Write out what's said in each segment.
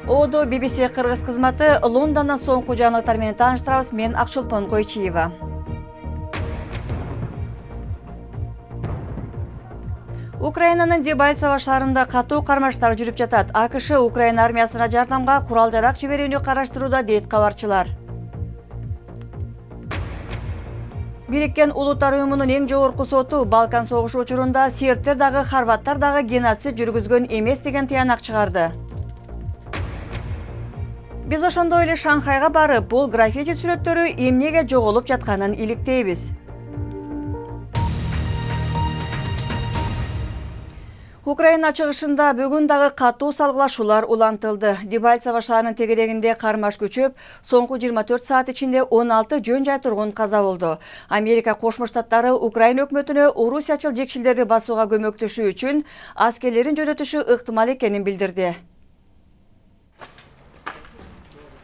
Оодо BBC Кыргыз кызматы Лондондон соңку жаңылыктар менен тааныштырабыз. Мен Акчулпон Койчиева. Украинанын Дебальцево шаарында катуу кармаштар жүрүп жатат. АКШ Украина армиясына жардамга курал-жарак жиберүүнү караштырууда, дейт кабарчылар. Бириккен Улуттар уюмунун эң жогорку соту Балкан согушу учурунда сербтер дагы, хорваттар дагы геноцид жүргүзгөн эмес деген тыянак чыгарды. Биз ошондой эле Шанхайга барып, бул граффити сүрөттөрү эмнеге жоголуп жатканын иликтейбиз. Украина чыгышында бүгүн дагы катуу салгылашуулар улантылды. Дебальцево шаарынын тегерегинде кармаш күчөп, соңку 24 саат ичинде 16 жөн жай тургун каза болду. Америка Кошмо Штаттары Украина өкмөтүнө орусиячыл жекчилдерди басууга көмөктөшүү үчүн аскерлерин жөнөтүшү ыктымал экенин билдирди.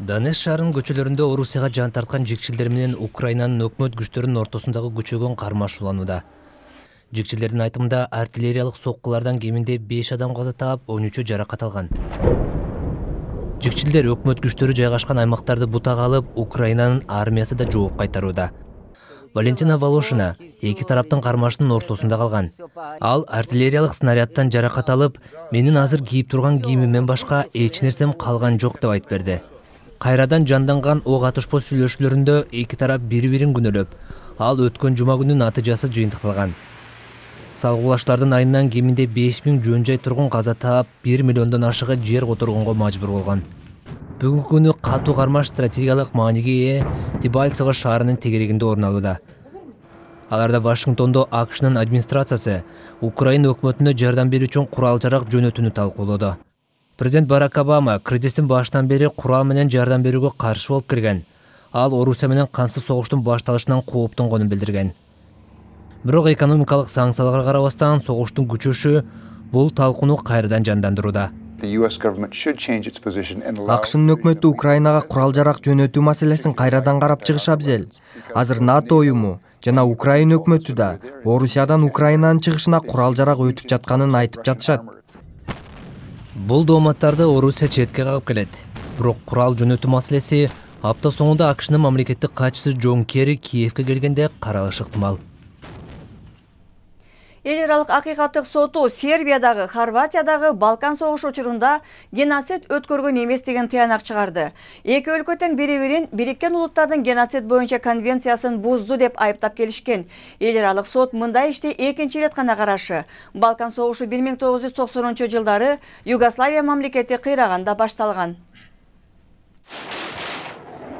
Донецк шаарынын көчөлөрүндө Орусияга жан тарткан жекчилдер менен Украинанын өкмөт күчтөрүнүн ортосундагы күчөгөн кармаш уланууда. Жекчилердин айтымында артиллериялык соккулардан кеминде 5 адам каза таап, 13 жаракат алган. Жекчилдер өкмөт күчтөрү жайгашкан аймактарды бутага алып, Украинанын армиясы да жооп кайтарууда. Валентина Волошина эки тараптын кармашынын ортосунда калган. Ал артиллериялык снарядтан жаракат алып, менин азыр кийип турган кийимимден башка эч нерсем калган жок деп айтып берди. Кайрадан жанданган ок атышпоо сүйлөшүүлөрүндө эки тарап бири-бирин күнөөлөп, ал өткөн жума күнү натыйжасы жыйынтыкталган. Салгылаштардын айынан кеминде 5000 жөн жай тургун каза таап, 1 миллиондон ашыгы жер которгонго мажбур болгон. Бүгүнкү күнү катуу кармаш стратегиялык мааниге ээ Дебальцево шаарынын тегерегинде орун алууда. Аларда Вашингтондо АКШнын администрациясы Украина өкмөтүнө жардам берүү үчүн курал-жарак жөнөтүүнү талкуулоодо. Президент Барак Обама кризистин башынан бери курал менен жардам берүүгө каршы болуп келген. Ал Орусия менен кансыз согуштун башталышынан кооптонгонун билдирген. Бирок экономикалык санкцияларга карабастан согуштун күчөшү бул талкууну кайрадан жандандырууда. АКШнын өкмөтү Украинага курал-жарак жөнөтүү маселесин кайрадан карап чыгыш абзел. Азыр НАТО уюму жана Украина өкмөтү да Орусиядан Украинанын чыгышына курал-жарак өтүп жатканын айтып жатышат. Бул дооматтарды Орусия четке кагып келет. Бирок курал жөнөтүү маселеси апта соңунда АКШнын мамлекеттик катчысы Джон Керри Киевке келгенде каралышы ыктымал. Эл аралык акыйкаттык соту Сербиядагы, Хорватиядагы Балкан согушу учурунда геноцид өткөргөн эмес деген тыянак чыгарды. Эки өлкө тең бири-бирин Бириккен Улуттардын геноцид боюнча конвенциясын бузду деп айыптап келишкен. Эл аралык сот мындай ишти экинчи ирет гана карашы. Балкан согушу 1990-жылдары Югославия мамлекети кыйраганда башталган.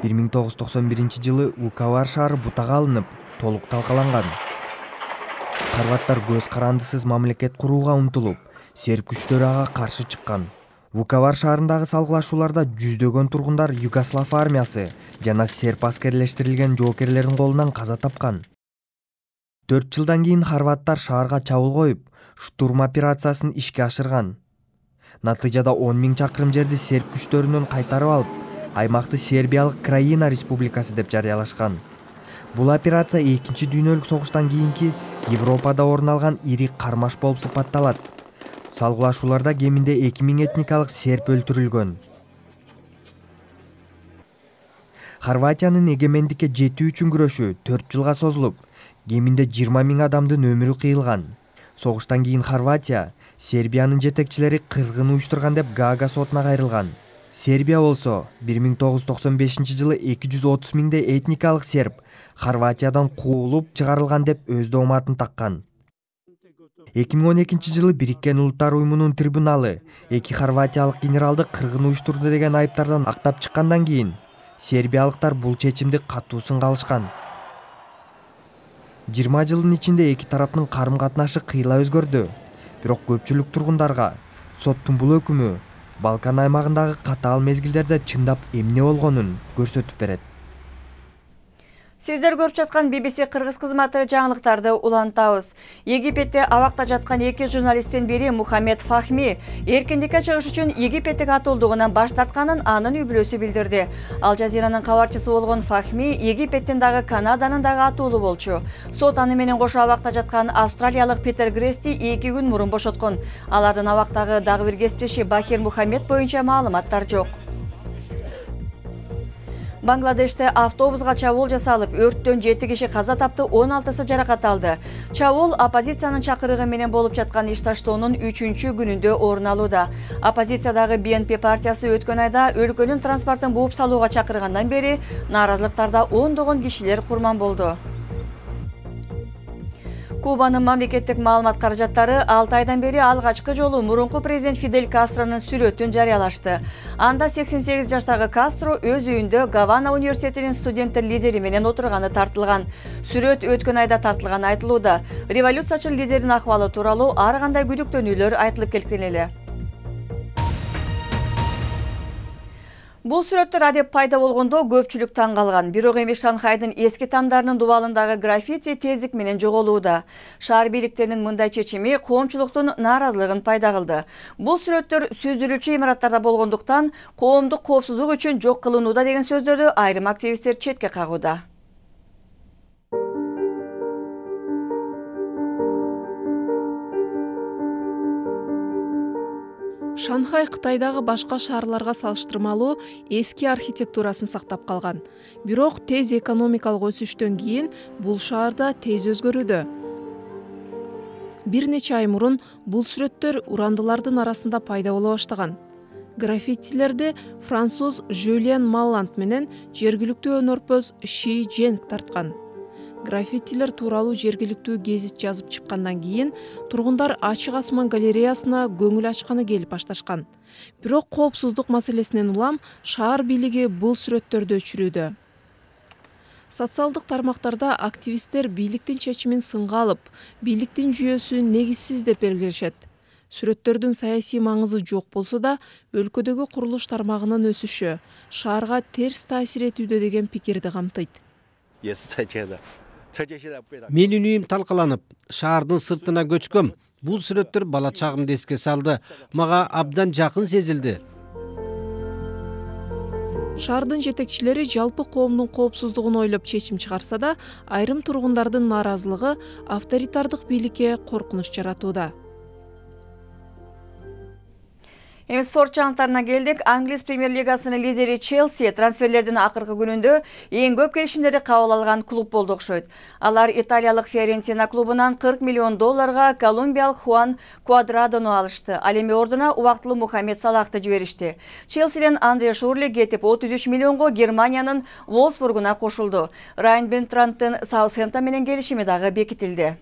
1991-жылы Вуковар шаары бутага алынып, толук талкаланган. Хорваттар көз карандысыз мамлекет курууга умтулуп, серб күчтөрү ага каршы чыккан. Вуковар шаарындагы салгылашууларда жүздөгөн тургундар Югослав армиясы жана серб аскерлештирилген жоокерлердин колунан каза тапкан. 4 жылдан кийин хорваттар шаарга чабуул коюп, штурм операциясын ишке ашырган. Натыйжада 10 000 чакырым жерди серб күчтөрүнөн кайтарып алып, аймакты Сербиялык Краина республикасы деп жарыялашкан. Бул операция 2-чи дүйнөлүк согуштан кийинки Европада орун алган ири кармаш болуп сыпатталат. Салгылашууларда кеминде 2000 этникалык серб өлтүрүлгөн. Хорватиянын эгемендикке жетүү үчүн күрөшү 4 жылга созулуп, кеминде 20 000 адамдын өмүрү кыйылган. Согуштан кийин Хорватия Сербиянын жетекчилери кыргын уюштурган деп Гаага сотуна кайрылган. Сербия болсо 1995-жылы 230 000 этникалык серб Хорватиядан куулуп чыгарылган деп өз дооматын таккан. 2012-жылы Бириккен Улуттар уюмунун трибуналы эки хорватиялык генералды кыргын уюштурду деген айыптардан актап чыккандан кийин сербиялыктар бул чечимди катуу сынга алышкан. 20 жылдын ичинде эки тараптын карым-катнашы кыйла өзгөрдү. Бирок көпчүлүк тургундарга соттун бул өкүмү Балкан аймагындагы катаал мезгилдерде чындап эмне болгонун көрсөтүп берет. Сиздер көрүп жаткан BBC кыргыз кызматы жаңылыктарды улантабыз. Египетте абакта жаткан 2 журналисттин бири Мухаммед Фахми эркиндикке чыгыш үчүн Египеттик атуулдугунан баш тартканын анын үй-бүлөсү билдирди. Ал Жазиранын кабарчысы болгон Фахми Египеттин дагы Канаданын дагы атуулу болчу. Сот аны менен кошо абакта жаткан австралиялык Питер Грести 2 күн мурун бошоткон. Алардын абактагы дагы бир кесиптеши Бахир Мухаммед боюнча маалыматтар жок. Бангладеште автобуска чабуул жасалып, өрттөн 7 киши каза тапты, 16сы жаракат алды. Чабуул оппозициянын чакырыгы менен болуп жаткан иш таштоонун 3-күнүндө орун алууда. Оппозициядагы BNP партиясы өткөн айда өлкөнүн транспортун бууп салууга чакыргандан бери нааразылыктарда ондогон кишилер курман болду. Кубанын мамлекеттик маалымат каражаттары 6 айдан бери алгачкы жолу мурунку президент Фидель Кастронун сүрөтүн жарыялашты. Анда 88 жаштагы Кастро өз үйүндө Гавана университетинин студенттер лидери менен отурганы тартылган. Сүрөт өткөн айда тартылганы айтылууда. Революциячыл лидердин акыбалы тууралуу ар кандай күдүктөнүүлөр айтылып келген эле. Бул сүрөттөр адеп пайда болгондо көпчүлүк таң калган. Бирок эми Шанхайдын эски тамдарынын дубалындагы граффити тездик менен жоголууда. Шаар бийликтеринин мындай чечими коомчулуктун нааразылыгын пайда кылды. Бул сүрөттөр сүздүрүүчү имараттарда болгондуктан коомдук коопсуздук үчүн жок кылынууда деген сөздөрдү айрым активисттер четке кагууда. Шанхай Кытайдагы башка шаарларга салыштырмалуу эски архитектурасын сактап калган. Бирок тез экономикалык өсүштөн кийин бул шаарда тез өзгөрүүдө. Бир нече ай мурун бул сүрөттөр урандылардын арасында пайда боло баштаган. Граффитилерди француз Жюльен Малланд менен жергиликтүү өнөрпөз Ши Женг тарткан. Граффитилер тууралуу жергиликтүү гезит жазып чыккандан кийин тургундар Ачык асман галереясына көңүл ачканы келип башташкан. Бирок коопсуздук маселесинен улам шаар бийлиги бул сүрөттөрдү өчүрүүдө. Социалдык тармактарда активисттер бийликтин чечимин сынга алып, бийликтин жүйөсү негизсиз деп белгилешет. Сүрөттөрдүн саясий маңызы жок болсо да, өлкөдөгү курулуш тармагынын өсүшү шаарга терс таасир этүүдө деген пикирди камтыйт. Менин үйүм талкаланып, шаардын сыртына көчкөм. Бул сүрөттөр бала чагымды эске салды. Мага абдан жакын сезилди. Шаардын жетекчилери жалпы коомдун коопсуздугун ойлоп чечим чыгарса да, айрым тургундардын нааразылыгы авторитардык бийликке коркунуч жаратууда. Эми спорт жаңылыктарына келдик. Англис премьер-лигасынын лидери Челси трансферлердин акыркы күнүндө эң көп келишимдерди кабыл алган клуб болду окшойт. Алар италиялык Фиорентина клубунан $40 миллион колумбиялык Хуан Квадрадону алышты. Ал эми ордуна убактылуу Мухаммед Салахты жиберишти. Челсиден Андре Шурли кетип 33 миллионго Германиянын Волсбургуна кошулду. Райан Бентрандтын Саутгемптон менен келишими дагы бекитилди.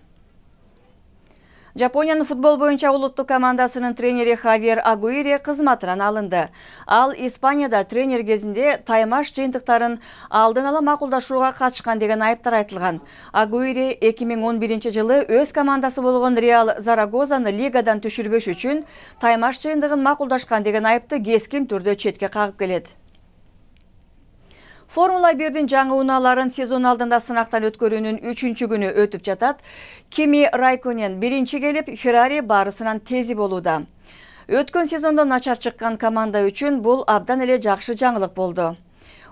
Жапониянын футбол боюнча улуттук командасынын тренери Хавьер Агуире кызматынан алынды. Ал Испанияда тренер кезинде таймаш жыйынтыктарын алдын ала макулдашууга катышкан деген айыптар айтылган. Агуире 2011 жылы өз командасы болгон Реал Зарагозаны лигадан түшүрбөш үчүн таймаш жыйындыгын макулдашкан деген айыпты кескин түрдө четке кагып келет. Формула 1-дин жаңы унааларын сезон алдында сынактан өткөрүүнүн 3-күнү өтүп жатат. Кими Райконен биринчи келип, Феррари барысынан тези болууда. Өткөн сезондо начар чыккан команда үчүн бул абдан эле жакшы жаңылык болду.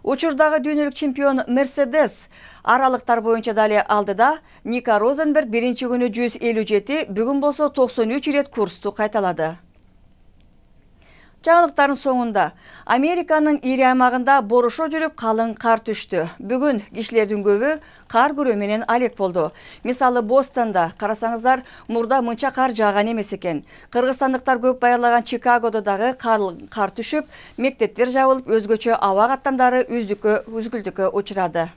Учурдагы дүйнөлүк чемпион Мерседес аралыктар боюнча дали алдыда. Ника Розенберг биринчи күнү 157, бүгүн болсо 93 ирет курсту кайталады. Жаңылыктардын соңунда Американын ири аймагында борошо жүрүп калың кар түштү. Бүгүн кишилердин көбү кар күрөө менен алек болду. Мисалы Бостонда карасаңыздар, мурда мынча кар жааган эмес экен. Кыргызстандыктар көп баярлаган Чикагодо дагы кар түшүп, мектептер жабылып, өзгөчө аба каттамдары үзгүлтүккө учурады.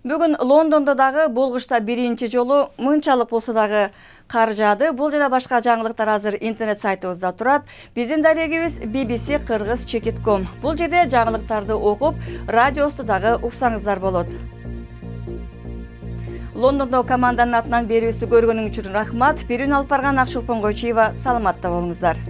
Бүгүн Лондондо дагы бул кышта биринчи жолу мынчалык болсо дагы кар жаады. Бул жана башка жаңылыктар азыр интернет сайтыбызда турат. Биздин дарегибиз bbc-kyrgyz.com. Бул жерде жаңылыктарды окуп, радиосу дагы уксаңыздар болот. Лондондо команданын атынан берүүбүздү көргөнүң үчүн рахмат. Берүүнү алып барган Акчулпон Койчуева, саламатта болуңуздар.